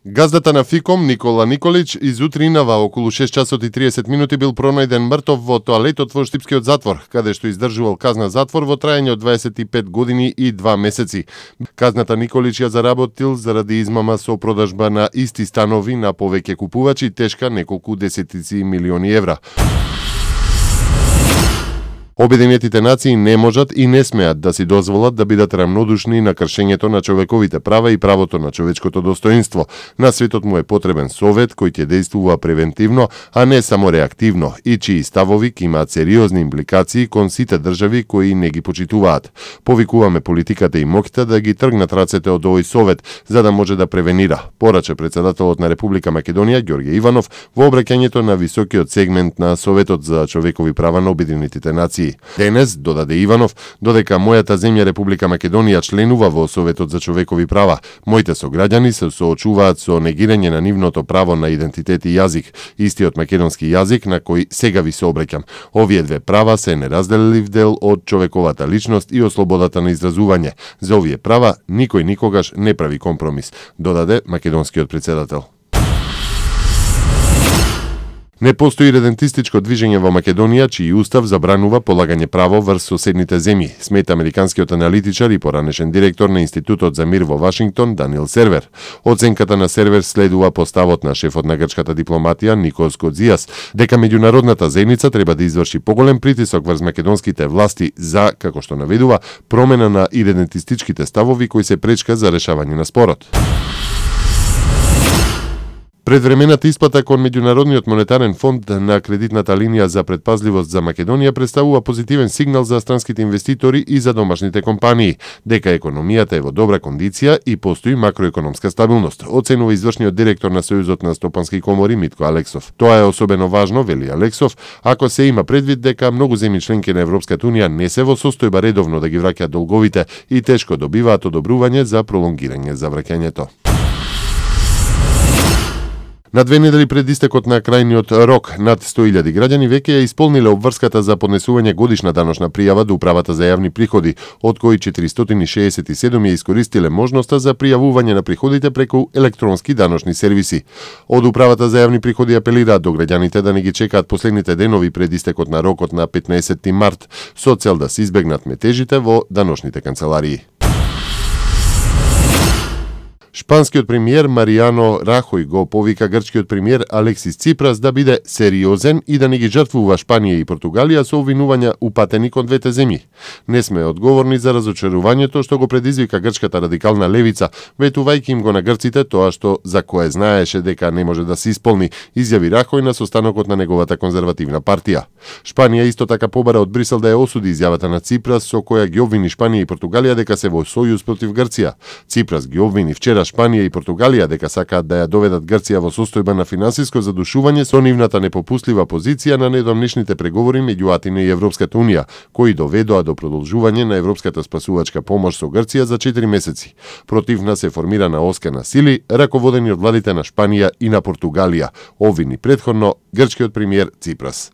Газдата на ФИКОМ Никола Николич изутринава околу 6 часот и 30 минути бил пронајден мртов во тоалетот во Штипскиот затвор, каде што издржувал казна затвор во траење од 25 години и 2 месеци. Казната Николич ја заработил заради измама со продажба на исти станови на повеќе купувачи, тешка неколку десетици милиони евра. Обединетите нации не можат и не смеат да си дозволат да бидат рамнодушни на кршењето на човековите права и правото на човечкото достоинство. На светот му е потребен совет кој ќе действува превентивно, а не само реактивно, и чии ставови ќе имаат сериозни импликации кон сите држави кои не ги почитуваат. Повикуваме политиката и моќта да ги тргнат рацете од овој совет, за да може да превенира, порача председателот на Република Македонија Ѓорѓе Иванов во обраќањето на високиот сегмент на Советот за човекови права на Обединетите нации. Денес, додаде Иванов, додека мојата земја Република Македонија членува во Советот за човекови права, моите сограѓани се соочуваат со негирање на нивното право на идентитет и јазик, истиот македонски јазик на кој сега ви се обраќам. Овие две права се неразделив дел од човековата личност и од слободата на изразување. За овие права никој никогаш не прави компромис, додаде македонскиот председател. Не постои редентистичко движење во Македонија, чиј устав забранува полагање право врз соседните земји, смета американскиот аналитичар и поранешен директор на Институтот за мир во Вашингтон, Даниел Сервер. Оценката на Сервер следува поставот на шефот на грчката дипломатија Никос Кодзијас, дека меѓународната заедница треба да изврши поголем притисок врз македонските власти за, како што наведува, промена на идентистичките ставови кои се пречка за решавање на спорот. Предвремената исплата кон Меѓународниот монетарен фонд на кредитната линија за предпазливост за Македонија представува позитивен сигнал за странските инвеститори и за домашните компании, дека економијата е во добра кондиција и постои макроекономска стабилност, оценува извршниот директор на Сојузот на стопански комори Митко Алексов. Тоа е особено важно, вели Алексов, ако се има предвид дека многу земји членки на Европската унија не се во состојба редовно да ги враќаат долговите и тешко добиваат одобрување за пролонгирање за враќањето. На 2 недели пред истекот на крајниот рок, над 100.000 граѓани веќе ја исполниле обврската за поднесување годишна даночна пријава до Управата за јавни приходи, од кои 467 ја искористиле можноста за пријавување на приходите преку електронски даночни сервиси. Од Управата за јавни приходи апелираат до граѓаните да не ги чекаат последните денови пред истекот на рокот на 15 март, со цел да се избегнат метежите во даночните канцеларии. Шпанскиот премиер Маријано Рахој го повика грчкиот премиер Алексис Ципрас да биде сериозен и да не ги жртвува Шпанија и Португалија со обвинувања упатени кон двете земји. Не сме одговорни за разочарувањето што го предизвика грчката радикална левица, ветувајќи им го на грците тоа што за кое знаеше дека не може да се исполни, изјави Рахој на состанокот на неговата конзервативна партија. Шпанија исто така побара од Брисел да ја осуди изјавата на Ципрас со која ги обвини Шпанија и Португалија дека се во сојуз против Грција. Ципрас ги обвини вчера Шпанија и Португалија дека сакаат да ја доведат Грција во состојба на финансиско задушување со нивната непопустлива позиција на недавнешните преговори меѓу Атина и Европската унија, кои доведоа до продолжување на европската спасувачка помош со Грција за 4 месеци. Противна се формирана оска на сили, раководени од владите на Шпанија и на Португалија, обвини претходно грчкиот премиер Ципрас.